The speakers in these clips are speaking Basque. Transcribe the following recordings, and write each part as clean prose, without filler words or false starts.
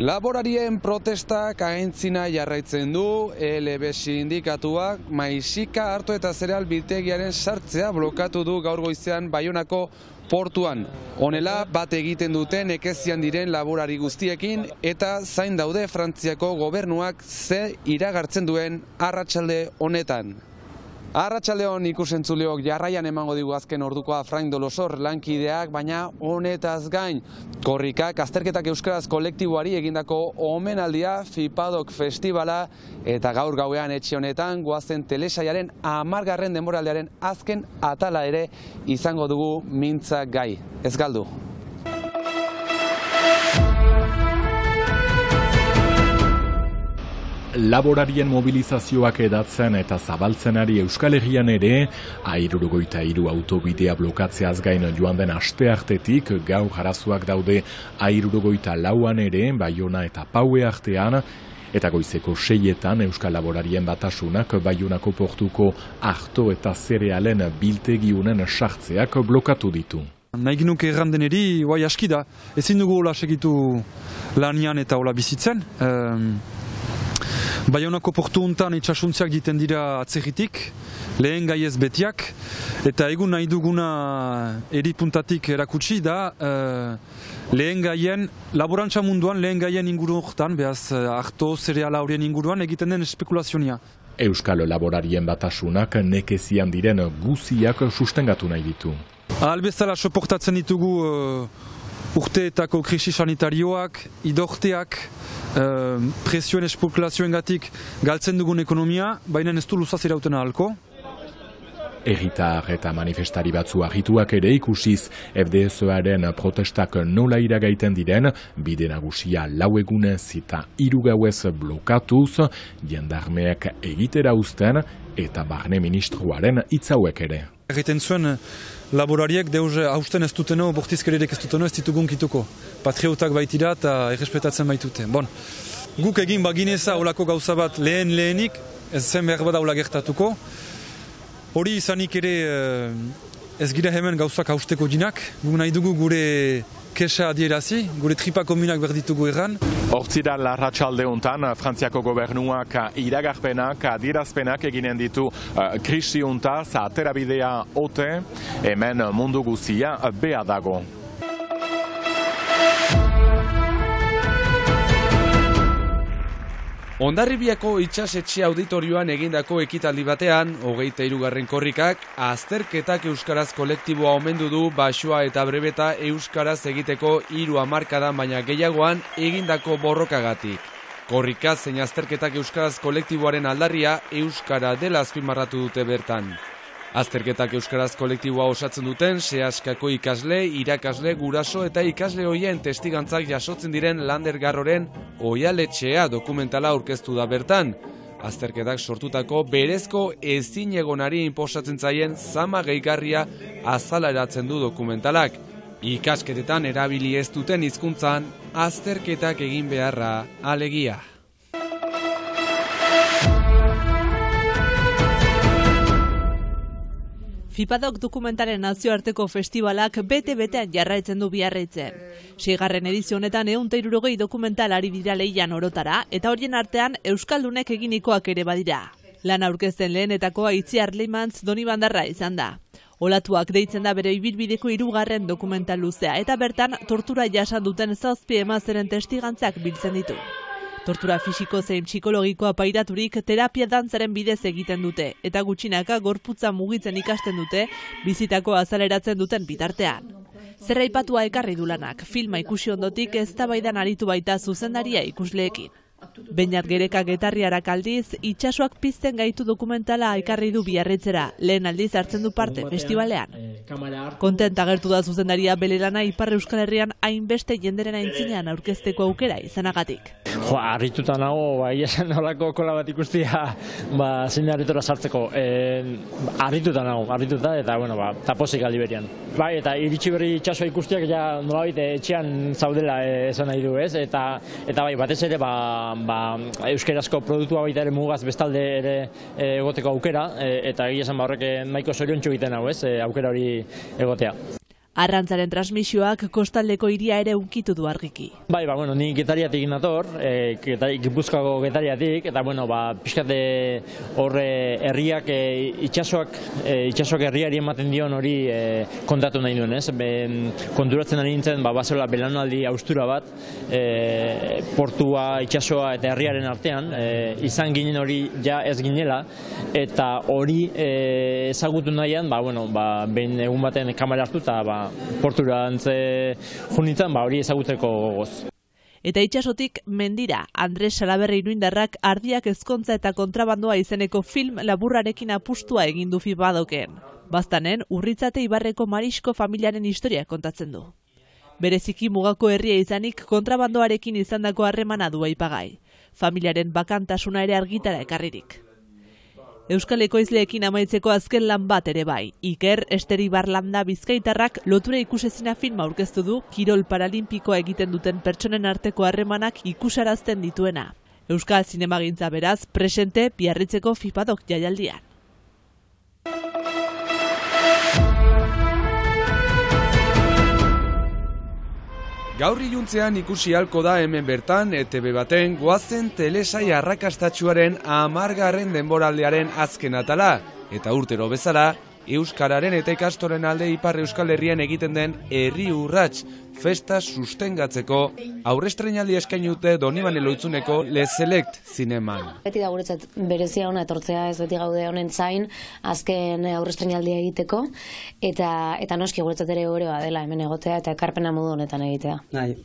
Laborarien protestak aintzina jarraitzen du, LB sindikatuak maisika hartu eta zereal biltegiaren sartzea blokatu du gaur goizean Baionako portuan. Honela bat egiten dute nekezian diren laborari guztiekin eta zain daude Frantziako gobernuak ze iragartzen duen arratsalde honetan. Arratsaldeon ikusentzuleok, jarraian emango digu azken ordukoa Frain Dolosor lankideak, baina honetaz gain korrikak azterketak euskaraz kolektiboari egindako omenaldia FIPADOK festivala eta gaur gauean etxe honetan goazen telesaiaren 10. denboraldiaren azken atala ere izango dugu mintza gai. Ez galdu. Laborarien mobilizazioak edatzen eta zabaltzenari Euskal Herrian ere, 63 autobidea blokatzeaz gain joan den asteartetik, gaur arazoak daude 64an ere, Baiona eta Paue artean, eta goizeko 6etan Euskal Laborarien Batasunak Baionako portuko arto eta zerealen biltegiunen sartzeak blokatu ditu. Nahi nuke errandeneri, guai aski da, ezin dugu hola segitu lanian eta hola bizitzen. Baionako portu hontan itxasuntziak diten dira atzerritik, lehen gaiez betiak, eta egun nahi duguna eripuntatik erakutsi da lehen gaien, laborantza munduan lehen gaien inguru horretan, behaz arto, zereala horien inguruan egiten den espekulazionia. Euskal Laborarien Batasunak nekezian diren guziak sustengatu nahi ditu. Albezala soportatzen ditugu urteetako krisi sanitarioak, idorteak, presioen espekulazioengatik galtzen dugun ekonomia, baina ez du luzaz irauten ahalko. Herritar eta manifestari batzu argituak ere ikusiz FDSOaren protestak nola iragaiten diren, bide nagusia 4 egunez eta 3 gauez blokatuz, jendarmeak egitera uzten eta barne ministroaren hitzauek ere. Egiten zuen laborariek deus hausten ez duteno, bortizkererek ez duteno ez ditugun kituko. Patriotak baitira eta errespetatzen baitute. Bon, guk egin bagineza olako gauza bat lehenik, ez zen behar bada hola gertatuko. Hori izanik ere ez gira hemen gauzak hausteko dinak, guk nahi dugu gure kesa adierazi, gure tripa komunak berditugu erran. Hortzira larratsalde hontan Frantziako gobernuak iragarpenak, adierazpenak eginen ditu krisi hontaz, aterabidea ote, hemen mundu guzia bea dago. Hondarribiako itsasetxe auditorioan egindako ekitaldi batean, 23. korrikak, azterketak euskaraz kolektiboa omendu du Baxua eta Brebeta euskaraz egiteko 3 hamarkadan baina gehiagoan egindako borrokagatik. Korrika zein azterketak euskaraz kolektiboaren aldarria euskara dela azpimarratu dute bertan. Azterketak euskaraz kolektiboa osatzen duten sehaskako ikasle, irakasle, guraso eta ikasle hoien testigantzak jasotzen diren Lander Garroren Oihaletxea dokumentala aurkeztu da bertan. Azterketak sortutako berezko ezinegonari inposatzen zaien zama gehigarria azaleratzen du dokumentalak. Ikasketetan erabili ez duten hizkuntzan azterketak egin beharra alegia. FIPADOK dokumentaren nazioarteko festivalak bete-betean jarraitzen du Biarritzen. 6. edizio honetan 160 dokumental ari dira lehian orotara, eta horien artean euskaldunek eginikoak ere badira. Lan aurkezten lehenetakoa Itziar Leimantz Donibandarra izan da. Olatuak deitzen da bere ibilbideko 3. dokumental luzea, eta bertan tortura jasan duten 7 emazteren testigantzak biltzen ditu. Tortura fisiko zein psikologikoa pairaturik terapia dantzaren bidez egiten dute, eta gutxinaka gorputza mugitzen ikasten dute, bizitako azaleratzen duten bitartean. Zerraipatua ekarri du lanak, filma ikusi ondotik eztabaidan aritu baita zuzendaria ikusleekin. Beñat Gereka Getarriarak aldiz, itsasoak pizten gaitu dokumentala ekarri du Biarritzera, lehen aldiz hartzen du parte festivalean. Kontent agertu da zuzendaria bere lana Ipar Euskal Herrian hainbeste jenderen aintzinean aurkezteko aukera izanagatik. Harrituta nago, esan nolako kola bat ikustia, zein harritura sartzeko. Harrituta nago, eta, tapozik aldi berian. Eta iritsi berri itsasoa ikustiak nolabait etxean zaudela esan nahi du, ez? Eta batez ere, euskerazko produktua baita ere mugaz bestalde ere egoteko aukera, eta egia esan horrek nahiko zoriontsu egiten hau, ez? Aukera hori egotea. Arrantzaren transmisioak kostaldeko hiria ere unkitu du argiki. Bai, ni Getariatik nator, Gipuzkoako Getariatik, eta pixkate horre herriak itxasoak herriari ematen dion hori kontatu nahi duen, ez? Konturatzen ari nintzen, basola belaunaldi haustura bat, portua, itxasoa eta herriaren artean, izan ginen hori ja ez ginela, eta hori ezagutu nahian, behin egun baten kamera hartu eta portura junitzen, hori ezaguteko gogoz. Eta itxasotik mendira, Andres Salaberri iruindarrak Ardiak ezkontza eta kontrabandoa izeneko film laburrarekin apustua egin du FIBADOKen. Baztanen, Urritzate Ibarreko Marisko familiaren historia kontatzen du. Bereziki mugako herria izanik kontrabandoarekin izandako harremana du aipagai. Familiaren bakantasuna ere argitara ekarririk. Euskal ekoizleekin amaitzeko azken lan bat ere bai. Iker Esteri Barlanda bizkaitarrak lotura ikusezina filma aurkeztu du kirol paralimpikoa egiten duten pertsonen arteko harremanak ikusarazten dituena. Euskal zinemagintza beraz presente Biarritzeko FIBADOK jaialdian. Gaur iluntzean ikusi halko da hemen bertan ETV baten goazen telesai arrakastatsuaren 10. denboraldiaren azken atala, eta urtero bezala, euskararen eta ikastoren alde Ipar Euskal Herrian egiten den herri urrats festa sustengatzeko aurrestreinaldi eskaini dute Donibane Loitzuneko Le Select zineman. Beti da guretzat berezia ona etortzea, ez beti gaude honen zain azken aurrestreinaldia egiteko, eta noski guretzat ere gorea dela hemen egotea eta ekarpena modu honetan egitea.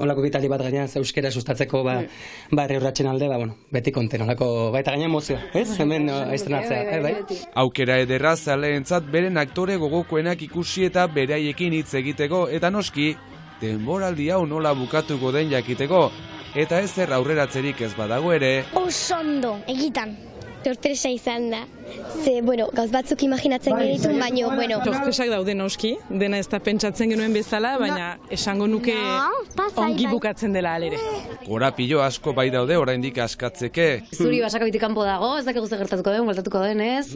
Holako bitaldi bat gainean euskera sustatzeko herri urratsen alde, beti konten, holako baita gainean mozio, ez? Hemen estrenatzea, bai? Aukera ederra zaleentzat beren aktore gogokoenak ikusi eta beraiekin hitz egiteko, eta noski denboraldi hau nola bukatuko den jakiteko, eta ezer aurreratzerik ez badago ere. Osondo, egitan. Sorpresa izan da. Gauz batzuk imaginatzen genitun, baina, Sorpresak daude noski, dena ez da pentsatzen genuen bezala, baina esango nuke ongi bukatzen dela alere. Korapilo asko bai daude oraindik askatzeke. Zuri basakabitik kanpo dago, ez dakik guzti gertatuko den, bueltatuko den, ez?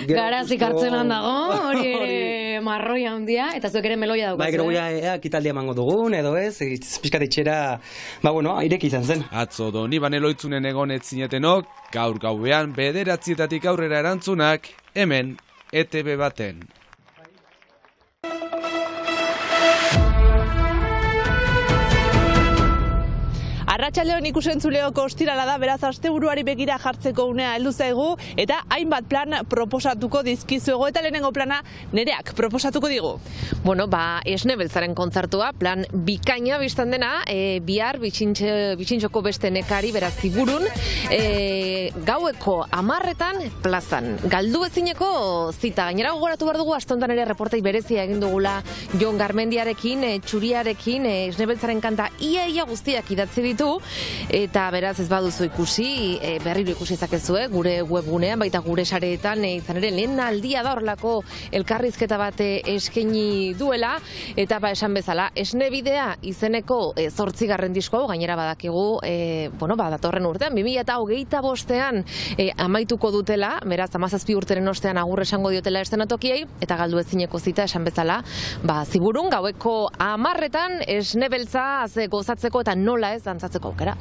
Garazik hartzenan dago, hori ere marroia handia, eta zuek ere meloia dago. Gero guia kitaldia emango dugun, edo ez, pixkat itxera, ireki izan zen. Atzo Donibane Loitzunen egon ez zinetenok, gaur gauean 9:00 aurrera erantzunak, hemen ETV baten. Arratsaldeon ikusentzuleoko ostirala da, beraz asteburuari begira jartzeko unea heldu zaigu eta hainbat plan proposatuko dizkizuego, eta lehenengo plana Nereak proposatuko digu. Esne Beltzaren kontzertua, plan bikaina biztan dena, bihar bitxintxoko beste nekari, beraz Ziburun, gaueko 10:00 plazan. Galdu ezineko zita, gainera gogoratu behar dugu, aste honetan ere reportei berezia egin dugula Jon Garmendiarekin, Txuriarekin, Esne Beltzaren kanta ia guztiak idatzi ditu, eta beraz ez baduzu ikusi, berriro ikusi zakezue, gure webgunean, baita gure sareetan, izan ere lehen aldia da horrelako elkarrizketa bat eskaini duela, eta esan bezala, Esne Bidea izeneko 8. disko hau, gainera badakigu, datorren urtean, 2025ean amaituko dutela, beraz 17 urteren ostean agur esango diotela eszenatokiei, eta galdu ezineko zita esan bezala, Ziburun gaueko 10:00 Esne Beltza gozatzeko eta nola ez dantzatzeko aukera.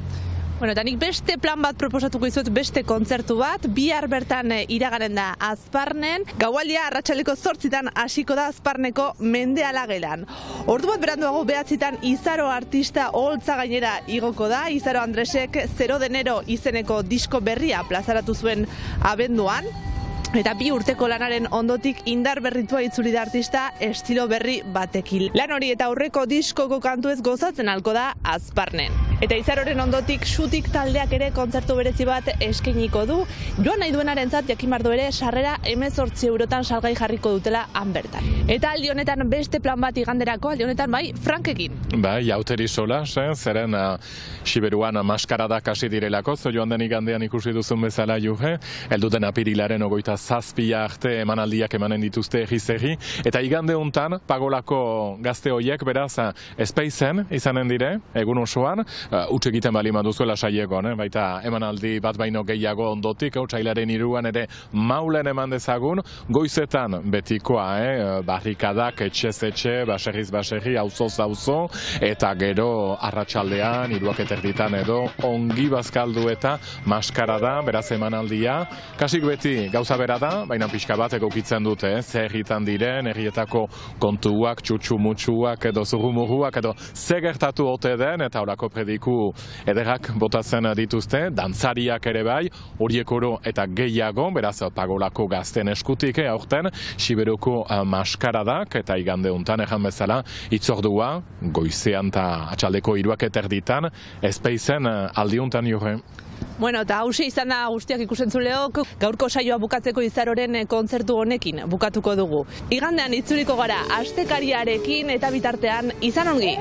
Eta nik beste plan bat proposatuko izut, beste kontzertu bat, bihar bertan iraganen da Azparnen, gaualdia arratsaldeko 8:00 hasiko da Azparneko Mendeala gelan. Ordu bat beranduago 9:00 Izaro artista oholtza gainera igoko da, Izaro Andresek 0 de enero izeneko disko berria plazaratu zuen abenduan, eta 2 urteko lanaren ondotik indar berritua itzuli da artista estilo berri batekin. Lan hori eta aurreko diskoko kantuez gozatzen halko da Azparnen. Eta Izaroren ondotik Xutik taldeak ere kontzertu berezi bat eskainiko du. Joan nahi duenarentzat jakimardo ere sarrera 18 eurotan salgai jarriko dutela han bertan. Eta aldi honetan beste plan bat iganderako, aldi honetan Frankekin. Jauteri sola, zeren Siberuan maskaradak hasi direlako, joan den igandean ikusi duzun bezala juhe, elduten apirilaren 27 arte emanaldiak emanen dituzte egizegi, eta igande hontan Pagolako gazte hoiek beraz espeizen izanen dire, egun osoan, utz egiten bali maduzuela sailegon, baita emanaldi bat baino gehiago ondotik, otsailaren 3an ere Maulen eman dezagun, goizetan betikoa, barrikadak etxez etxe, baserriz baserri, auzoz auzo, eta gero arratsaldean 3:00 edo ongi bazkaldu eta maskarada, beraz emanaldia, kasik beti gauza bera da, baina pixka bat egokitzen dute, zer herritan diren, herrietako kontuak, txutxu-mutxuak edo zurrumurruak edo zer gertatu ote den, eta horako prediku ederrak botatzen dituzte, dantzariak ere bai, horiek oro eta gehiago, beraz pagolako gazten eskutik aurten, Siberoko maskaradak, eta igande untan ejan bezala, itzordua, goizean eta atxaldeko 3:30, ezpeizen aldiuntan jure. Bueno, eta hauxe izan da guztiak ikusentzuleok, gaurko saioa bukatzeko Izaroren kontzertu honekin bukatuko dugu. Igandean itzuliko gara astekariarekin eta bitartean izan ongi!